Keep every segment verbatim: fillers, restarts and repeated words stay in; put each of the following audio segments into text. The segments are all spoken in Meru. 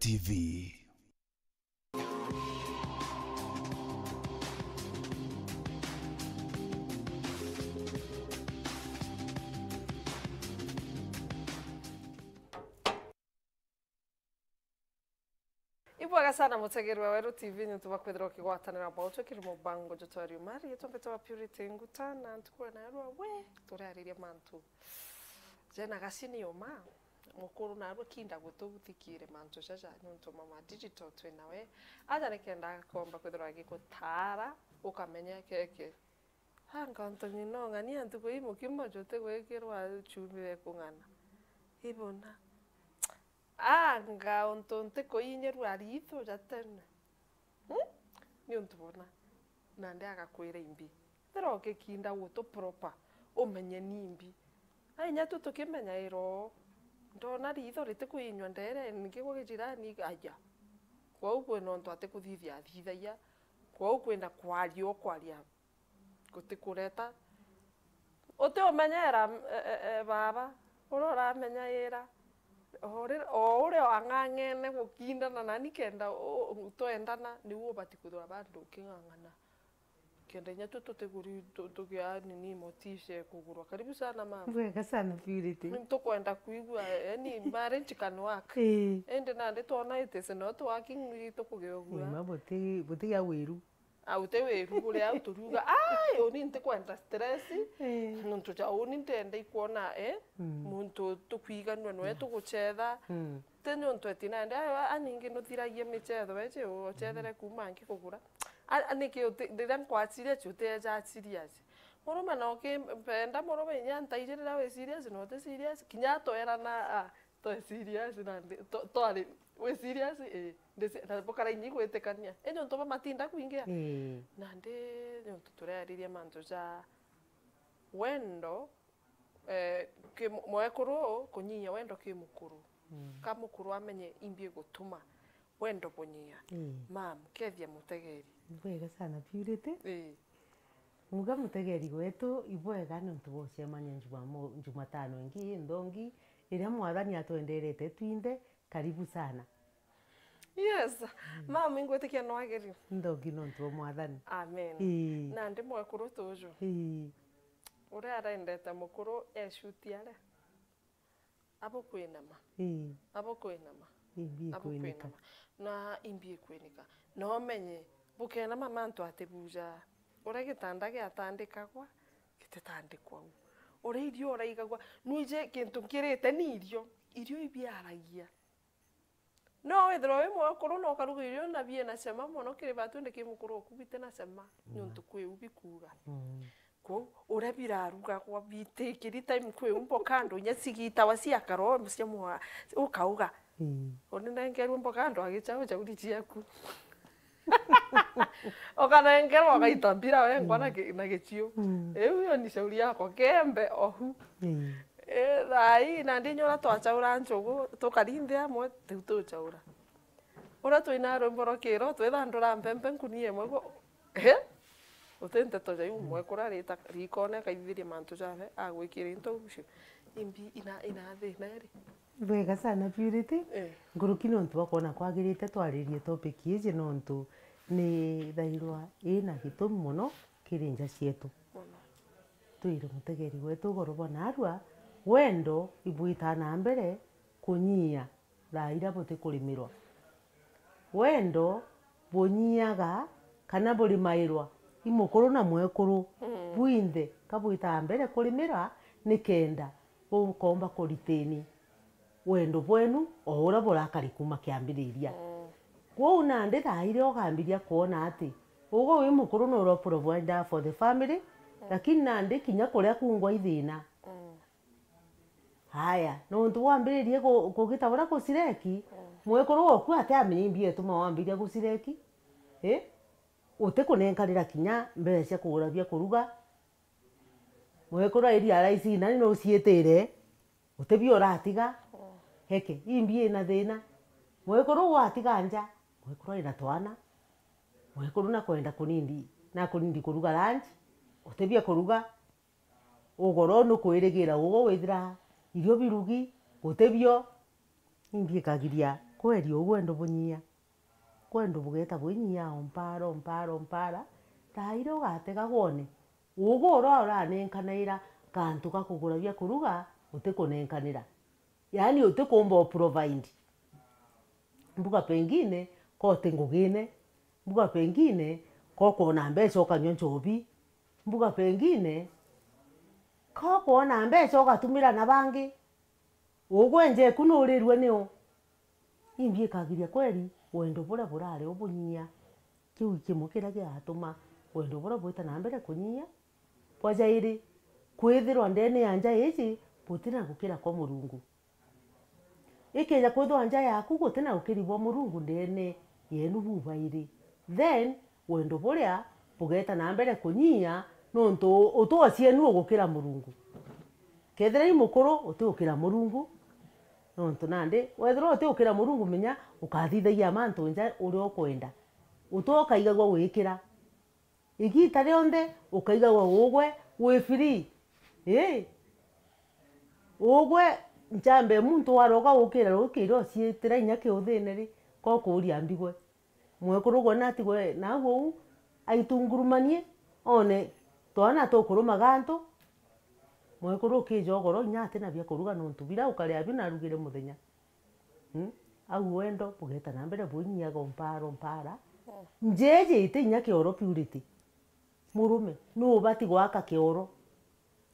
T V. Ibwega sana mutegeri wa Weru T V niuntu bwa kwithirwa ukigwatanira bwautwe kiri mubango jwa Twaria Uma. Riitwa mbitagwa Purity Nguta, na ntuku ya narua we turiariria mantu jena gacini uma. Mukuru narua kinda gututhikire mantu jaja niuntu mama digital twi nawe. Aja nikenda akomba kwithirwa agigutaara ukamenya keke. Anga untu ng'ina ung'ania ntuku ii mukimo jutigwikirwa chumbi ya kung'ana. Ibona. Anga untu ntikuinyirua riitho ja tene. Hmm? Niuntu bona. Nandi agakwira imbi. Ethira ugikinda gutu proper, umenye ni imbi. Ainya tu tukimenyaira uu. Ndona riitho ritikuinyua ndeere, ningi gwa gijirani, aja. Kwou kwina untu atikuthithia athithagia. Kwou kwina kwaria ukwaria. Gutikureta. Utiumenyeera, e, e, e, baaba, uria uramenyaira. O ri-, o uria wang'ang'ene gukindana nani kenda u-, u-, twendana, niu ubati kwithirwa bandu uking'ang'ana. Kenda inya tu tutiguri tu-, tugia nini motisha ya kugurwa. Karibu sana mama. Bwega sana Purity. Ni tukwenda kwigua, yani marriage can work. Ii. Indi nandi twona it is not working, ni tukugia ugua. Ni ma buti-, butigia wiru. Au te wiru buria au turiuga, "Ai, uni ntikwenda stress." Eh. Nontu ja uni ntenda ikwona, eh, mm, muntu tukwiganua nwe, yeah, tugucetha. Mm. Ti nontu eti nandi, "Ai, a, a, ningi nuthiragia micetho eji, ucethere, mm, kuma ngi kugura." A, a, niki uti-, riria nkwa serious, utieja serious. Murume no kimpenda, murume inya ntaiji riria wi serious, no ti serious. Kinya twerana, a, Twe serious nandi, twa-, twari, wi serious? Ii. Ndi se-, na bukara inyi gwitikania. Indi untu bwa matinda kwingia. Ii. Nandi niuntu turariria mantu ja wendo, eh, ki mu-, mwekuru kunyia wendo ki mukuru. Mm. Ka mukuru amenye imbi igutuma wendo bunyia. Ii. Mam, kethia mutegeri. Bwega sana, Purity. Ii. Muga mutegeri wetu, ibwega niuntu bwa ucemania Njumamo-, Njumatano ingi inthongi, iria Mwathani atwenderete twinthe. Karibu sana. Yes. Mm. Mami, ngwitikia no agerio. Nthogi nontu bwa Mwathani. Amen. Ii. Nandi mwekuru tuju. Ii. Uria arendete mukuru ecuti aria. Abo kwinama. Ii. Abo kwinama. Imbi ikwinika. Abo kwinama. Na imbi ikwinika. Na umenye, bukenama mantu atibuja. Uria gitanda giatandikagwa, gititandikwa u. Uria irio uraigagwa, nwiji kintu nkirite ni irio. Irio ibiaragia. No withirwa wi mwekuru na ukaruga irio na biina cama mono kiri batu, indi ki mukuru oku biti na cama, mm, niuntu kwi u bikuuga. Mm. Kwou, uria birarugagwa bitikiri time kwi u mboka andu inya cigitawa cia karo, cia mwa-, ukauga. Mm. Uni nengerwe mboka andu agicau, cauri ciaku. Ukanengerwa, ugaita mbira wengwa na, mm, gi-, na gichiu. Mm. Iu yo ni shauri yakwa, kembe ohu. Mm. Eh, thaa ii, nandi inya uria twachaura njugu, tukarinthi amwe, tiu tuchaura. Uria twina rwimbo rwa kiro, twithandura mpempe nkunia imwe gu-, eh? Uti nteto ja iu, mm, mwekuru arita rikone, akaithithiria mantu jawe, agwikira into ucio. Imbi ina, ina thina iri. Bwega sana, Purity. Eh. Nkuruki nontu bwa kwona kwagirite twaririe topic iji, nontu ni thairwa ina gitumi mono kiri nja cietu. Mono. Twire mutegeri wetu ugoro bwa narua, wendo ibwitaa na mbere kunyia thaa iria butikurimirwa. Wendo bunyiaga kana burimairwa i mukuru na mwekuru, mm, bwinthe ka bwitaa mbere kurimira, nikenda bukomba kuritini wendo bwenu o uria burakari kuma kiambiriria. Mm. Kwou nandi thaa iria ukambiria kwona ati ugu wi mukuru nura provider for the family, mm, lakini nandi kinya kuria kungwa i thina. Mm. Haya, nontu wambiririe ku-, kugita uria gucireki, mm, mwekuru waku atiamenya imbi ituma wambiria gucireki. I? Utikunenkanira kinya mbeca cia kugura bia kuruga. Mwekuru airi ara ici nani nuciitire, utibio uratiga. Mm. Heke, imbi ina thina. Mwekuru watiga nja, mwekuru aina twana. Mwekuru nakwenda kunindi, nakunindi kuruga lunch, utibia kuruga. Ugoro nukwirigira ugu withira irio birugi, gutibio, imbi ikagiria Kweri uu wendo bunyia. Wendo bugeeta bwinyia o mpaara, o mpaara, o mpaara. Thaa iria ugatega gwone, ugu uria uranenkanaira kantu ga kugura bia kuruga, utikunenkanira. Yaani utikumba u provide. Mbuga pengine, ko uti ngugine. Mbuga pengine, ko ukwona mbeca ukanyua nchobi. Mbuga pengine, ko ukwona mbeca ugatumira na bangi. Ugwe njeku nuurirue niu? Imbi ikagiria kweri wendo buria burari ubunyia. Kiu i kimwe kiria gigatuma wendo buria bwita na mbere kunyia. Bwa jairi, kwithirwa ndene ya nja iji butina gukira kwa Murungu. Ikeja kwithirwa nja yaku gutina ukiri bwa Murungu ndene yenu bubairi, then wendo buria bugeeta na mbere kunyia, nontu utuo cienu ugukira Murungu. Kethira i mukuru, uti ukira Murungu, nontu nandi wethirwa uti ukira Murungu, menya ukathithagia mantu nja uria ukwenda. Utuo ukaigagua wikira. Igiita rionthe ukaigagua ugwe wi free. Ii. Ugwe nchambe muntu waroga ukira rukiri uciitira inya kiuthine ri, ko kuuria mbigwe. Mwekuru gwe natigwe nau uu, aitungurumanie, one twana tukurumaga antu. Mwekuru ukija ugoro inya atina bia kuruga nontu biria ukaria bio narugire muthenya. Mm? Au wendo bugeeta na mbere bwinyiaga o mpaara, o mpaara. Mm. Njeeji iti inya kioro Purity. Murume, nuu ubati gwaka kioro?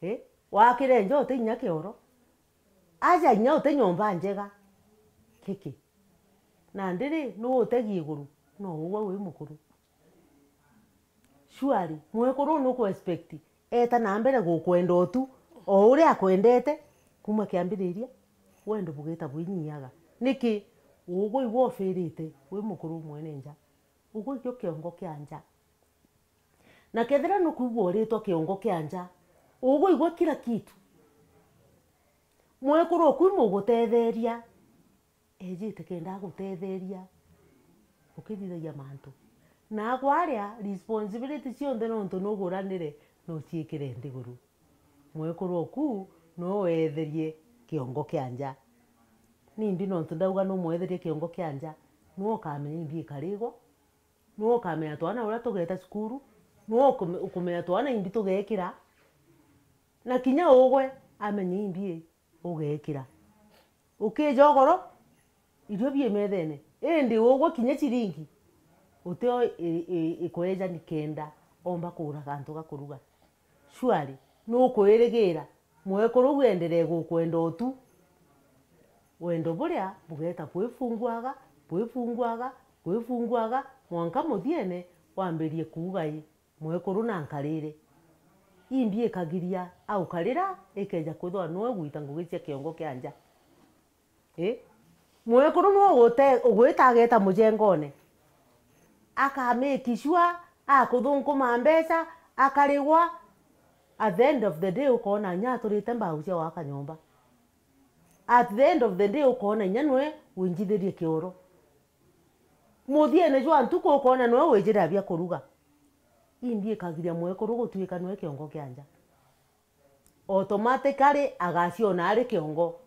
Eh? Wakire nja uti inya kioro? Aja inya uti nyomba njega? Kiki. Nandi ri, nuu utegi iguru? No ugwe wi mukuru. Surely, mwekuru uu nuku expect eeta na mbere gukwenda o tu, o uria akwendete, kuuma kiambiriria, wendo bugeeta bwinyiaga. Niki? Ugwe igwe ufirite, wi mukuru mwene nja. Ugwe igwe kiongo kia nja. Na kethira nukwigua uritwa kiongo kia nja, ugwe igwe kila kitu. Mwekuru uku imugutetheria. Ejite kenda agutetheria ukithithagia mantu. Na akwaria responsibility cionthe nontu nuguranire nuciikire nthiguru. Mwekuru oku no weetherie kiongo kia nja. Nimbi nontu ndauga no mweetherie kiongo kia nja? Nwe ukamenya imbi ikarigwa, nwe ukamenya twana uria tugeeta cukuru, nwe ukume-, ukumenya twana imbi tugekira, na kinya ugwe amenye imbi ugekira. Ukija ugoro, irio bie methene, indi ugwe kinya ciringi, utio i-, i-, ikweja ni kenda omba kugura gantu ga kuruga. Surely, nukwirigira mwekuru uu enderee gukwenda o tu? Wendo buria bugeeta bwifunguaga, bwifunguaga, bwifunguaga, mwanka muthiene wambirie kuuga ii. Mwekuru na nkarire. Imbi ikagiria au karira ikeja kwithirwa nwe gwita ngugi cia kiongo kia nja. Ii? Mwekuru nwe ugute-, ugwita ageta mujengone. Aka make sure akuthunkuma mbeca, akarigwa. At the end of the day, ukoona inya aturite mbau cia gwaka nyomba. At the end of the day, ukoona inya nwe winjithirie kioro. Muthiene jwa ntuku ukoona nwe wijira bia kuruga. Imbi ikagiria mwekuru gutuika nwe kiongo kia nja. Automatically agaciona ari kiongo.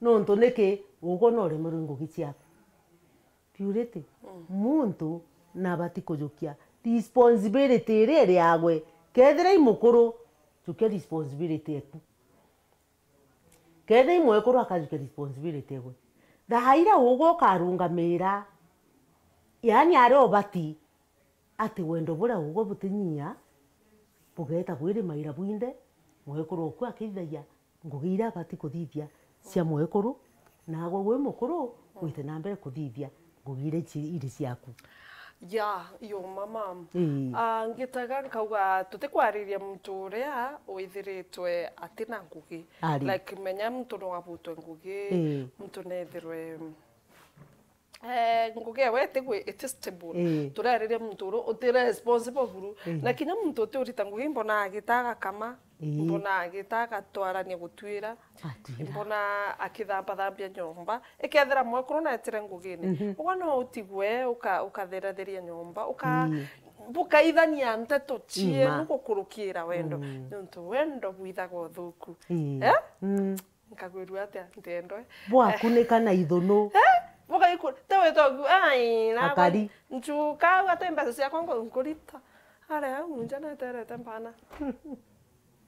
Nontu niki? Ugwe no uremerwe ngugi ciaku. Purity, mm, muntu nabati kujukia responsibility iria iri yagwe. Kethira i mukuru, jukia responsibility eku. Kethira i mwekuru akajukia responsibility egwe. Thaa iria ugwe ukarungamira, yaani aria ubati, ati wendo buria ugwe butinyia, bugeeta bwirimaira bwinthe, mwekuru oku akithithagia ngugi iria abati kuthithia cia mwekuru, naagwe wi mukuru wite na mbere kuthithia ngugi iria ici iri ciaku. Ya, yo mama. Ii. Ah, ngitaga nkauga tutikwariria muntu uria withiritwe atina ngugi. Ari. Like, menya muntu no abutwe ngugi, ii, muntu nethirwe, eh, ngugi ewe itigwi, iti stable. Ii. Turariria muntu uria uti responsible buru. Ii. Na kinya muntu uti urita ngugi mbona agita agakama. Ii. Mbona agita agatwarania gutwira. Atwira. Mbona akithambathambia nyomba. Ikethira mwekuru netire ngugine. Mhm. Ugwe no utigwe, uka-, ukatheratheria nyomba, uka-, ii, bukaithania nteto cienu gukurukira wendo. Mm. Nontu wendo bwithaga uthuku. Ii. Eh? Mm. Nkagwirua atia? Ntendwe. Bwakunika na ithunu. Eh? Bugaikura, te witogu, ai, na akari. Nchuka, au ate mbeca ciakwa ngo-, nkurita. Are au, nja neterete mpana.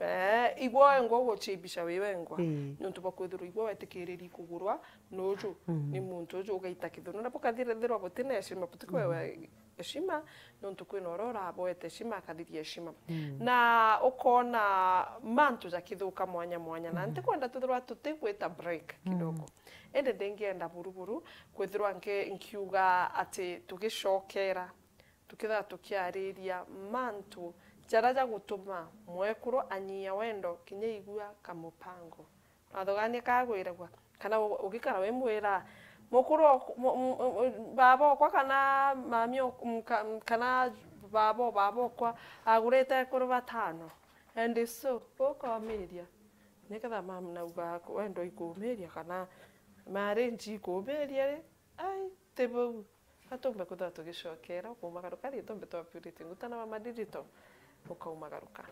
Eh, igwe wengwa uguchimbisha wi wengwa. Ii. Niuntu bwa kwithirwa igwe wetikiriri kugurwa nuju, mm, ni muntu uju ugaita kithunu. Na bukathirithirwa butina heshima, butikwewa heshima, niuntu kwina uria uraboete heshima, akathiria heshima. Mm. Na ukona mantu jakithuka mwanya mwanya. Na, mm, ntikwenda twithirwa tutigwita break kidogo. Mm. Indi ndingienda buru buru kwithirwa nki-, nkiuga ati tugicokera tukithirwa tukiariria mantu jaria jagutuma mwekuru anyia wendo kinya igua kamupango. Wathugania kagwiragwa, kana u-, ugikara wimwira, "Mukuru ok-, mu-, mu-, mu-, baba okwa kana mami ok-, m-, ka-, m-, kana baba o baba okwa agurite ekuru batano." And so, ukomiria, niketha mam nauga wendo ikumiria kana marriage ikumiria ri? Ai, ti bau. Ka tumbe kwithirwa tugicokera, ukaumagaruka ri, tumbe twa Purity Nguta na Mama Digital, ukaumagaruka.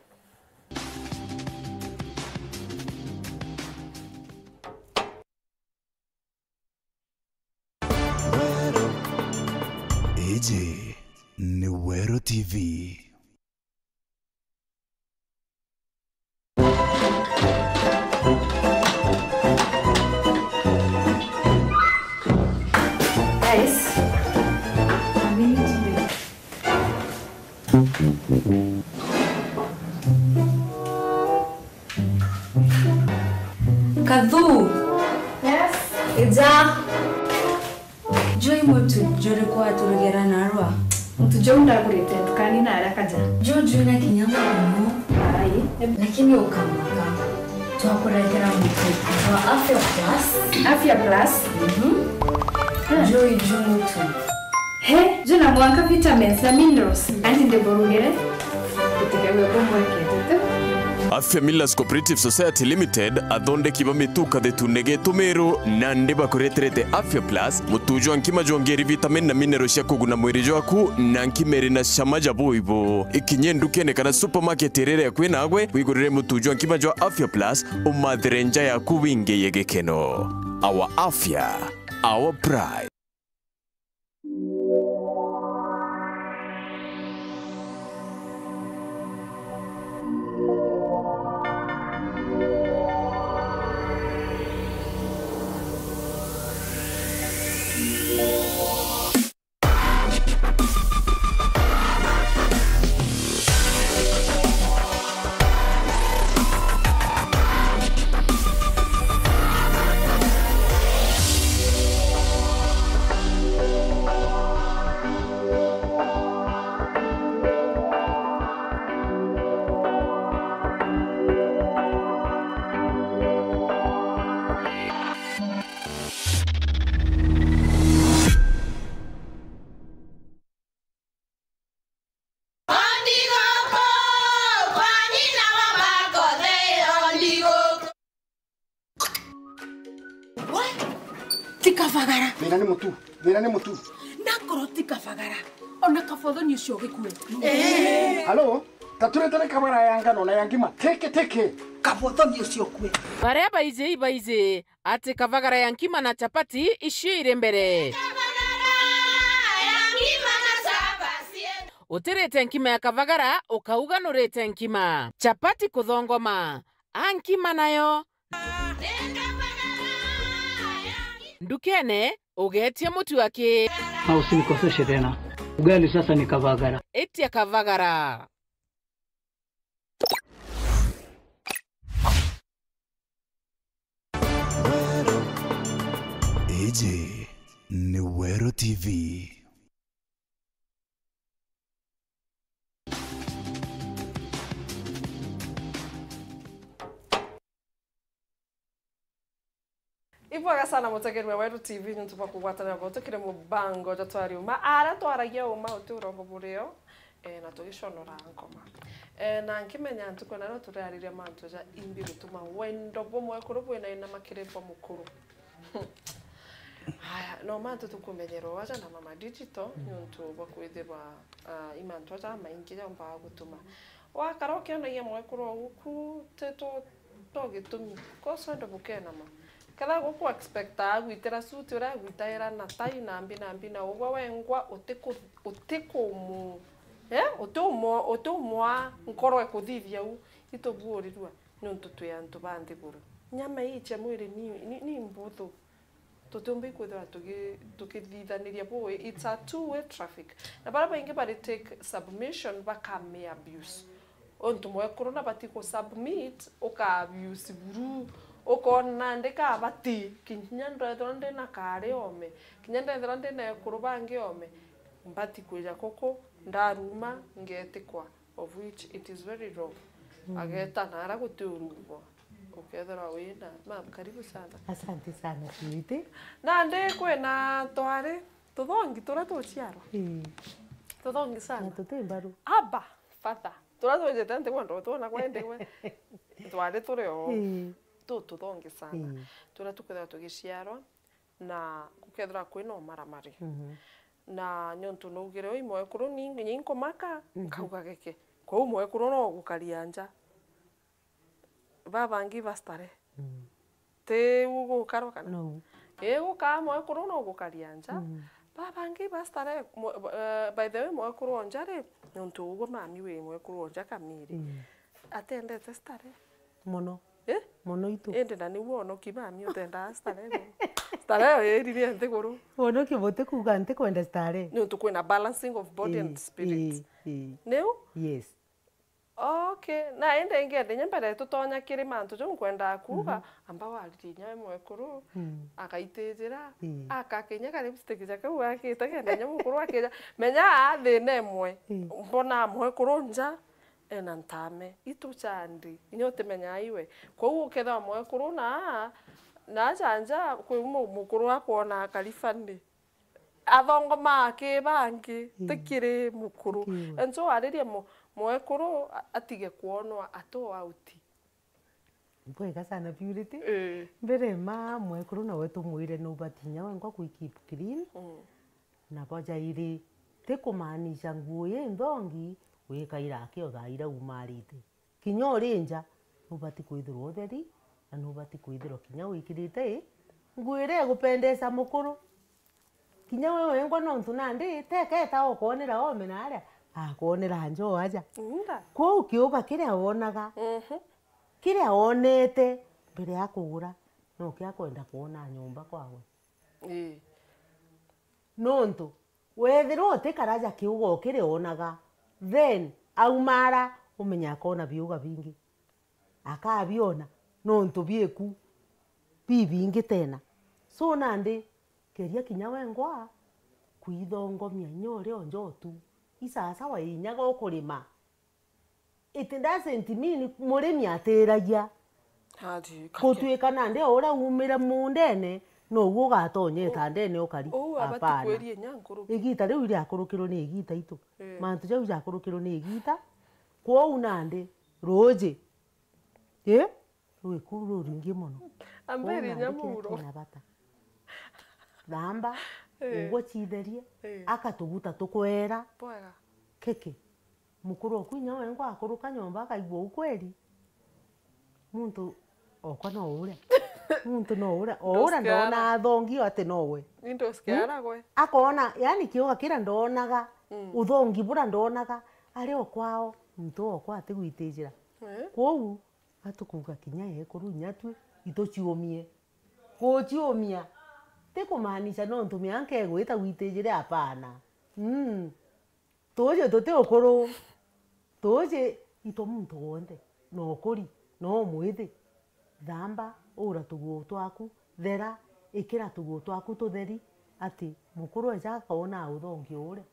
Weru. Iji ni Weru T V. Guys, a minute, please. Kathu! Yes? Ija! Juu i mutu juriku waturugera narua? Mutu juu ndagurite ndukani na aria kaja. Juu juu na kinya muno. Ai. Lakini ukamaka. Twakuretera mutu wa Afya Plus. Afya Plus? Mhm. Ah. Juu i juu mutu. He, juu na mwanka vitamins na minerals. Anti ndiburugire. Gutikagwe kumwekete tu. Afya Millers Cooperative Society Limited, athondeki ba mitu kathetune getu meru, nandi bakureterete Afya Plus, mutu jwa nkima jwongeri vitamin na mineral cia kuguna mwiri jwaku, na nkima iri na cama ja buibu. Ikinye ndukene kana supermarket iria iri akui nagwe, wigurire mutu jwa nkima jwa Afya Plus, umathire nja yaku wingiye gikeno. Our Afya, our pride. Ti kabagara. Thina ni mutu. Thina ni mutu. Nakorwo ti kabagara, ona kabothoni ucio ugikue. Halo? Taturete ni kabara ya ngano na ya ngima. Teke, teke. Kabothoni ucio ukue. Baria baiji ibaiji ati kabagara ya nkima na chapati icio iri mbere. Utirite nkima ya kabagara, ukauga nurite nkima. Chapati kuthongoma. A nkima nayo. Ndukene, ugetie mutu aki. Na usinikoseshe tena. Ugali sasa ni kabagara. Itia kabagara. Iji ni Weru T V. Ibwega sana mutegeri wa Weru T V niuntu bwa kugwatanira nabo tukire mubango jwa twari uma. Aria twaragia uma uti urongo burio, eh, na tugiconora nkoma. Eh, na nkimenya ntuku na no turariria mantu ja imbi gutuma wendo bumwe kuru bwina ina makiri bwa mukuru. Haya, no mantu tukumenyerwa aja na Mama Digital, niuntu bwa kwithirwa, ah, i mantu aja maingi jaumbaga gutuma wakara ukionagia mwekuru oguku, ti to, to gitumi. Koso ndo bukenama. Kethira guku expectaa agwitira suti uria agwitaira na tai na mbi na mbi na ugwe wengwa utiku-, utikumu-, eh? Utiumo-, utiumwa nkoro ikuthithia u, itubuurirua niuntu twi antu ba nthiguru. Nyama iicia mwiri ni, ni, ni mbuthu. Tutiumba ikwithirwa tugi-, tukithithaniria bui. It's a two-way traffic. Na baria baingi bari take submission bakami abuse. Untu mwekuru nabati ku submit, uka abuse buru. Ukona nandi kabati. Kinya ndethirwa ndina kari ome. Kinya ndethirwa ndina ekuru bangi ome. Mbati kwija kuku, ndaruma, ngetikwa. Of which it is very wrong. Mm. Ageta nara guti urumbo. Ukethirwa wina. Mam, karibu sana. Asante sana, Purity. Nandi kwina twari tuthongi turia tuciarwa. Ii. Tuthongi sana. Na tuti mbaru. Aba, father. Turia twenjete nthi kwenda utwona kwendiwe. Twari turi o. Ii. Tu tuthongi sana. Ii. Turia tukwithirwa tugiciarwa. Na gukethirwa kwina umaramari. Mhm. Na niuntu naugire ui mwekuru ni nginya inkumaka, mhm, nkauga giki. Kwou mwekuru no gukaria nja. Babangi ba starehe. Mm. Ti u gukarwa kana? No. Ii, gukaa mwekuru no gukaria nja. Mm. Babangi ba starehe, mwe-, eh, by the way, mwekuru o nja ri, niuntu ugwe mami wi mwekuru o nja kamiri. Mm. Atendete starehe. Mono. Eh? Mono itu. Indi na niu wonoki mami utendaa starehe. Starehe iririe nthiguru. Wonoki buti kuuga ntikwenda starehe. Niuntu kwina balancing of body and spirit. Ii, ii. Niu? Yes. Okay. Na indi ingi indi inya mbere tutonya kiri mantu jau nkwendaa kuuga, mhm, amba waririe inya we mwekuru, mm, akaitijira, ii, akaka inya ka lipstick ja kau akite kenda inya mukuru akija. Menya aa thina imwe. Ii. Mbonaa mwekuru nja, ena ntame, itu chandi, inya utimenyaa iwe. Kwou ukethirwa mwekuru na, na aja nja, kwi mu-, mukuru akwona akari funny. Athongomaa ki bangi, mm, ti kiri mukuru. Ti kiri we. Enso waririe mu-, mwekuru a-, atige kwonwa atu out. Bwega sana, Purity. Ii. Mbere ma mwekuru nawe tumwire nubati inya wengwa kwi keep clean. Mm. Na bo jairi, ti kumaanisha nguo i nthongi wikaira aki o thaa iria umarite. Kinya uri nja, nubati kwithirwa utheri, na nubati kwithirwa kinya wikirite i, nguo iria igupendesa mukuru. Kinya we wengwa nontu nandi, teka eta okwonera ome na aria, akwonera nja o aja. Nda. Kwou kiuga kiria wonaga, mhm, kiria wonete mbere ya kugura, nokio akwenda kwona nyomba kwawe. Ii. Nontu, wethirwa utikaraja kiuga ukirionaga, then aumara, umenye akona biuga bingi. Akabiona, nontu bieku bibingi tena. So nandi, keria kinya wengwa kwithongomia inya uria unjotu. Isasawa inyaga ukurima. It doesn't mean murimi atiragia. Ati, kake. Gutuika nandi o uria umire mundene, nouguo ugatonya itandene ukari. Uu abati. Hapana. Kweria inya nkuruki. Igita riu riakurukirwe ni igita itu. Eh. Mantu jau jakurukirwe ni igita. Kwou nandi, ruuji. Ii? Rwi kuu ruringi mono. Amberi inya muuro. Kwou nandi kiri kina bata. Thamba, eh, ugwe citherie, eh, aka tuguta tukwera. Bwega. Kiki. Mukuru oku inya wengwa akuruka nyomba akaigua ukweri. Muntu okwa no uria. Muntu no uria. O uria ndona athongi ati no we. Ni ndusikiara gwe. Akona, yani kiuga kiria ndonaga, mm, uthongi buria ndonaga, ari o kwao, muntu okwa atigwitijira. Eh? Kwou, atukuuga kinya ekuru inya twi ituciumie. Guciumia ti kumaanisha nontu mianka igwita gwitijire, hapana. Mm. Tuuji tuti ukuru. Tuuji itwe muntu wonthe, no ukuri, no umwithi. Thamba, ura tuguo twaku, thera, ikira tuguo twaku tutheri, ati mukuru eja akona uthongi uria.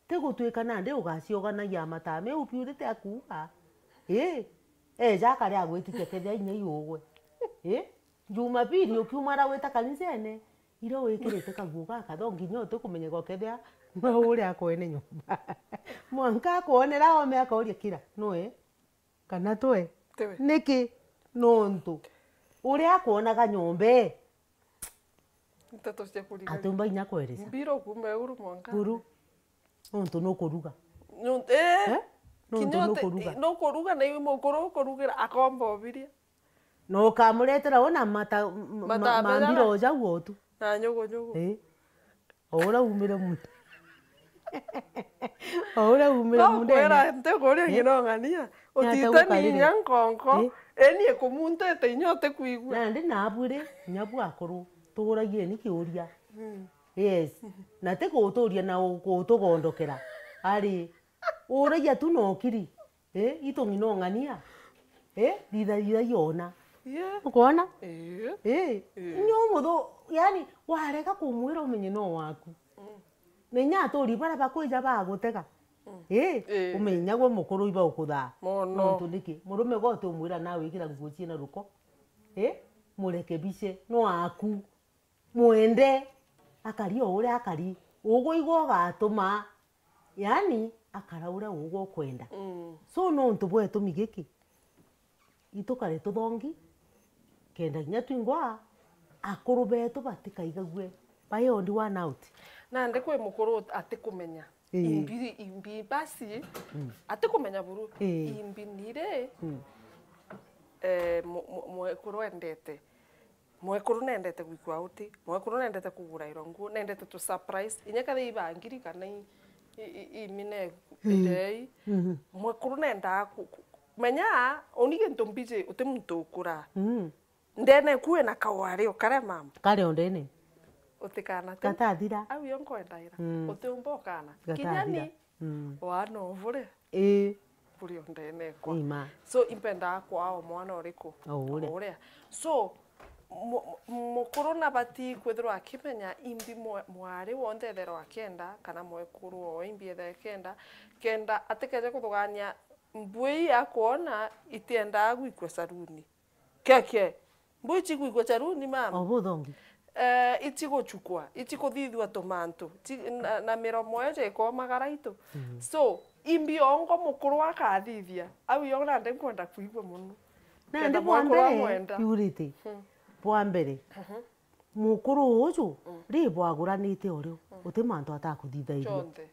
Ti gutuika nandi ugacioganagia matame, u Purity akuuga. Ii, eja akari agwitikia kethia inya iugwe. Ii, Jumapili ukiumara gwita kanisene, iria wikirite kaguo gaka, tho nginya utikumenyeka ukethia no uria akwene nyomba. Mwanka akwonera ome akauria kira, nwe? Kana twe? Tiwe. Niki? Nontu uria akwonaga nyomba ii, nteto cia kurigaria. Atiumba inya kweresa. Mbiro kuma iguru mwanka. Buru. Nontu nukuruga. Nontu, eh? Eh? Nontu kinya uti-, nukuruga. Nukuruga na iwe mukuru ukurugira akomba obiria. Na ukamuretera una mata, m-, ma-, Matambe mambira jaga. O jau otu. Na nyugu nyugu. Ii. O uria umire mu-, o uria umire mundene. Nokwira nti kuria. Ii. Ng'ina ung'ania. Ni atia utite ni gukarire? Inya nkonko. Ii. Eni ikumunthite inya utikwigua. Nandi nabu ri, inya bu akuru, tuuragieni kiuria. Mm. Yes. Na ti guturia na u-, gutugondokera. Ari, uragia tu na ukiri. Ii, itu ng'ina ung'ania. Ii, thitha, thitha yona. Yeah. Ukoona? Ii. Ii. Ii. Inya umuthu, yani, warega kumwira umenye no waku. Mm. Na inya aturi baria bakwija bagutega. Mm. Ii. Ii. Umenye inya gwe mukuru iba ukuthaa. Mono. Nontu niki? Murume gwe uti umwira nawe ikira nguo ciina ruko. Ii? Murekebishe. No aku. Mwende, akari o uria akari, ugwe igwe ugatuma, yani, akara uria ugwe ukwenda. Mm. So, nontu bwa gitumi giki, itukare tuthongi, kenda kinya twingwa, akuru betu batikaigague, biondi one out. Nandi kwi mukuru atikumenya. Ii. Imbi, imbi basi, mm, atikumenya buru. Ii. Imbi niri, mm, eh, mu-, mu-, mwekuru endete. Mwekuru nendete gwikua uti, mwekuru nendete kugurairwa nguo, nendete tu surprise. Inya kethira ibangiri kana i, i, i, imine, mm, ndei. Mhm. Mwekuru nendaa ku, ku, menya, uni gintu mbiji, uti muntu ukura. Mm. Ndene ku wina kawari ukare mama. Kare o ndene. Utikana tu. Gatathira. Au yo nkwendaira. Mm. Utiumba ukana. Gatathira. Kinya ni, mm, wana uvure. Ii. Buri o ndene ekwa. Ima. So, impendaa kwaa o mwana uriku? O uria. O uria. So, mu-, mu-, mukuru nabati kwithirwa akimenya imbi mwa-, mwari wonthe etherwa akenda, kana mwekuru o imbi ethe akenda, kenda atikeje kuthugania mbui akwona itiendaa gwikua saruni. Keke. Mbu ichigwigua charuni, mama? O buthongi. Eh, ichiguchukwa, ichikuthithua tumantu, chi-, na, na miromo eje ikomagara itu. Mm. So, imbi ongo mukuru akathithia, au yo nandi nkwenda kwigua mono. Nandi kenda bwa mwekuru mbere, amwenda. Purity, mm, bwa mbere, mhm, mukuru uju, mm, ri bwaguranite o riu, mm, uti mantu atakuthithairia. Chonthe.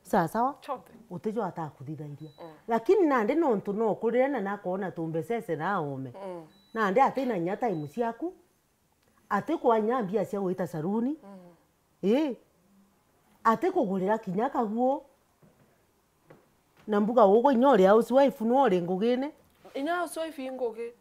Sawa sawa? Chonthe. Utijo atakuthithairia. Mm. Lakini nandi nontu no ukurire na nakoona tumbecece na aome. Mm. Nandi atina inya time ciaku. Atikwaa inya mbia cia gwita saruni. Mm. Ii. Atikugurira kinya kaguo. Na mbuga ugwe inya uri housewife no uri ngugine. Inya housewife i ngugi.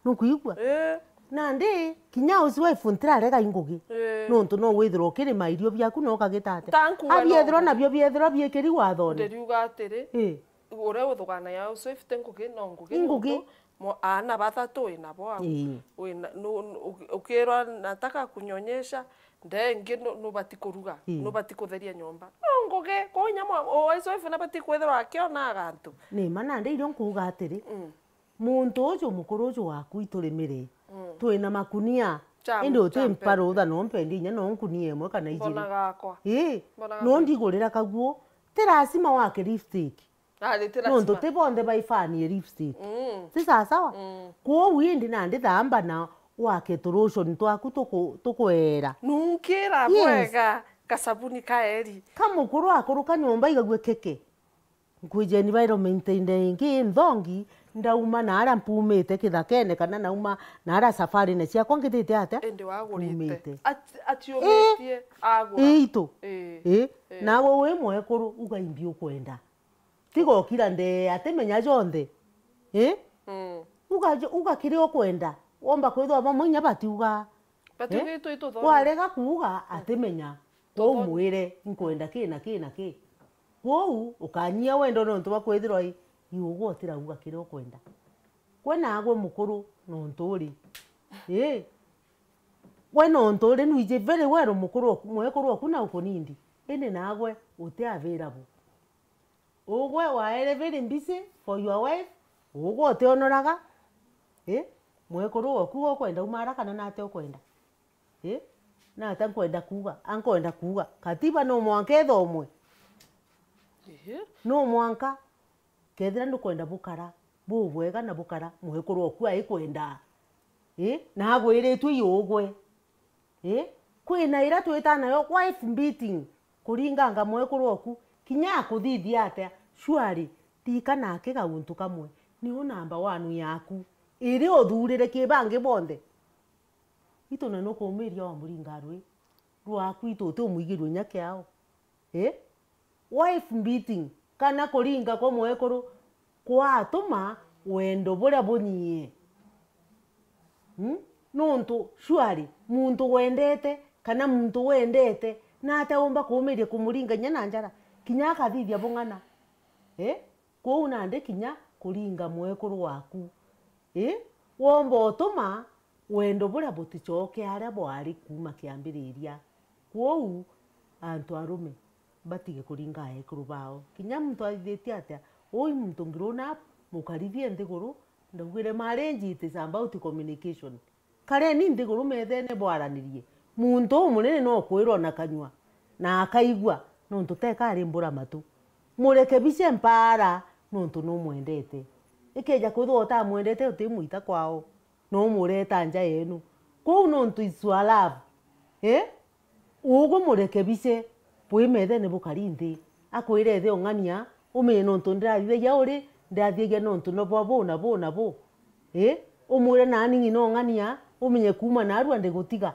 Nukwigua? Ii. Nandi, kinya housewife ntirarega i ngugi. Ii. Nontu no withirwa ukirima irio biaku na ukagita atia? Ta nkuga no abiethirwa ngugi. Nabio biethirwa biikiri wathone. Ndiriuga atiri, ii, uria uthuganagia housewife ti ngugi, no ngugi. I ngugi. Nontu mo-, aana bathatu wina bo au. Ii. Wina, nu-, nu-, uki-, ukirwa nataka kunyonyesha, nde ingi nu-, nubati kuruga, ii, nubati kutheria nyomba. No ngugi, kwou inya mwa-, o housewife nabati kwithirwa akiona agantu. Ni ma nandi irio nkuuga atiri, mm. Muntu uju mukuru uju waku iturimire, mm, twina makunia. Cha, indi uti cha mpa mpempe. Rutha no mpendi inya no nkunia imwe kana ijiri. Mbona gakwa? Ii, mbona no gakwa? Ndigurira kaguo, ti lazima wake lipstick. Ah, ni ti lazima. Nontu ti bonthe baifanie lipstick. Mm. Ti sawa sawa? Mm. Kwou indi nandi thamba na wake tulotion twaku tuku-, tukuera. Nunkira, yes, bwega, kasabuni ka eri. Ka mukuru akuruka nyomba igague keke. Nkwiji environment inde ingi inthongi, ndauma na aria mpumite kithakene, kana nauma na aria safarine ciakwa ngithite atia? Indi wagurite. Mpumite. Ati-, atiumitie, ii, agura. Ii, itu. Ii. Ii. Ii. Nawe wi mwekuru, uga imbi ukwenda. Tiga ukira ndee, atimenya jonthe. Ii? Mm. Uga jo-, uga kiria ukwenda. Womba kwithwa bamwe inya batiuga. Batiuga, eh? Itu, itu thongi. Warega kuuga, atimenya. Kwou mwire, "Nkwenda ki na ki na ki." Kwou, ukanyia wendo nontu bwa kwithirwa i, i ugwe utirauga kiria ukwenda. Gwe nagwe mukuru nontu uri. Ii. Gwe nontu uri nwiji very well mukuru oku, mwekuru oku na ukunindi. Indi nagwe uti available. Ugwe waere very busy for your wife, ugwe utionoraga, ii, mwekuru oku ukwenda umara kana nate ukwenda? Ii, nate nkwenda kuuga, ankwenda kuuga, katiba no mwanka ithomwe. Ehe. No mwanka, kethira nukwenda bukara bubwega na bukara mwekuru oku aikwenda. Ii, na agwiritwe i ugwe. Ii, kwina iria twita nayo wife beating, kuringanga mwekuru oku, kinya akuthithia atia, surely, ririkana akiga guntu kamwe, niu namba one yaku. iri uthurire ki bangi bonthe. Itu na nukumiria wa muringa rwi rwaku, itu uti umwigirwe inya kiao. Eh? Wife beating, kana kuringa kwa mwekuru kwatuma wendo buria bunyie. Hmm? Nuntu surely muntu wendete, kana muntu wendete, nate umba kumiria kumuringa inya na njara, kinya akathithia bung'ana. Eh? Kwou nandi kinya kuringa mwekuru waku. Ii, womba utuma wendo buria buticoke aria bwari kuuma kiambiriria. Kwou, antu arume, batige kuringa ekuru bao. Kinya muntu athithitie atia, ui muntu grown up, mukarithie nthiguru, ndaugire marriage it is about communication. Kareni nthiguru methene bwaranirie. Muntu umunene no kwirwa na kanyua, na akaigua, nontu teka arimbura matu. Murekebishe mpaara, nontu numwendete. Ikeja kwithirwa utamwendete, utimwita kwao, no umureta nja yenu. Kwou nontu it's your love. Eh? Ugwe murekebishe, bwi methene bukari nthi. Akwire ethe ung'ania, umenye nontu ndirathithagia uri, ndirathithagia nontu no bwa bu na bu na bu. Ii? Umwire nani ng'ina ung'ania, umenye kuuma narua ndigutiga.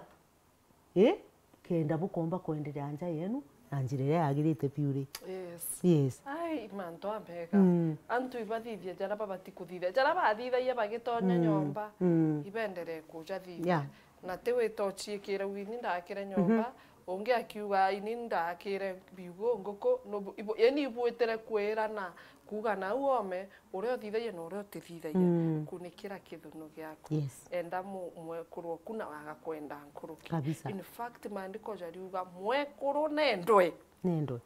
Ii? Kenda bukomba kwenderea nja yenu na njira iria yagirite biu ri. Yes. Yes. Ai, mantu amega. Mm. Antu ibathithia jaria babati kuthithia. Jaria bathithagia bagitonya Mm. nyomba, Mm. ibenderee kujathithia. Yeah. Na ti wita uciikire uu, ini ndakire nyomba, ungi akiuga, ini ndakire biugo, nguku, nubu-, ibu-, yani ibwitire kwirana, kuuga nau ome, uria uthithagia na uria utithithagia. Mm. Kunikira kithuno giaku. Yes. Enda mu-, mwekuru oku na waga kwenda nkuruki. Kabisa. In fact, maandiko jariuga, mwekuru nendwe. Nendwe.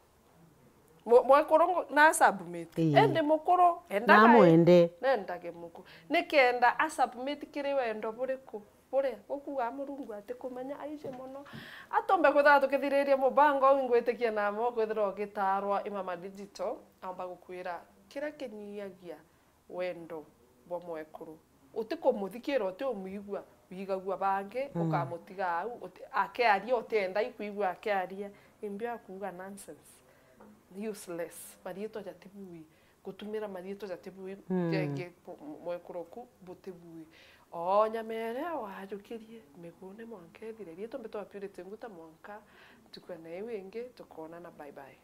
Mwe-, mwekuru ngo-, na submit. Ii. Endi mukuru, endaga Namwende. Nendage mukuru. Nikenda a submit kiri wendo buriku? Buria gukuuga Murungu atikumenya aiji mono. Atombe kwithirwa tukithiriria mubango uu, ingwitikia namo kwithirwa ugitarwa i Mama Digital, aumba gukwira kiria kinyiagia wendo bwa mwekuru. Utikumuthikira, utiumwigua, wigagua bangi, Mm. ukamutiga au, uti-, akiaria, utienda ikwigua akiaria, imbi akuuga nonsense. Useless. Mariitwa jatibui. Gutumira mariitwa jatibui, Mm. jengi bu-, mwekuru oku butibui. O nyama iria wajukirie, migune mwanka ithire. Riitwa mbitwa Purity Nguta, mwanka ntuku ya naiu ingi, tukoonana. Bye bye.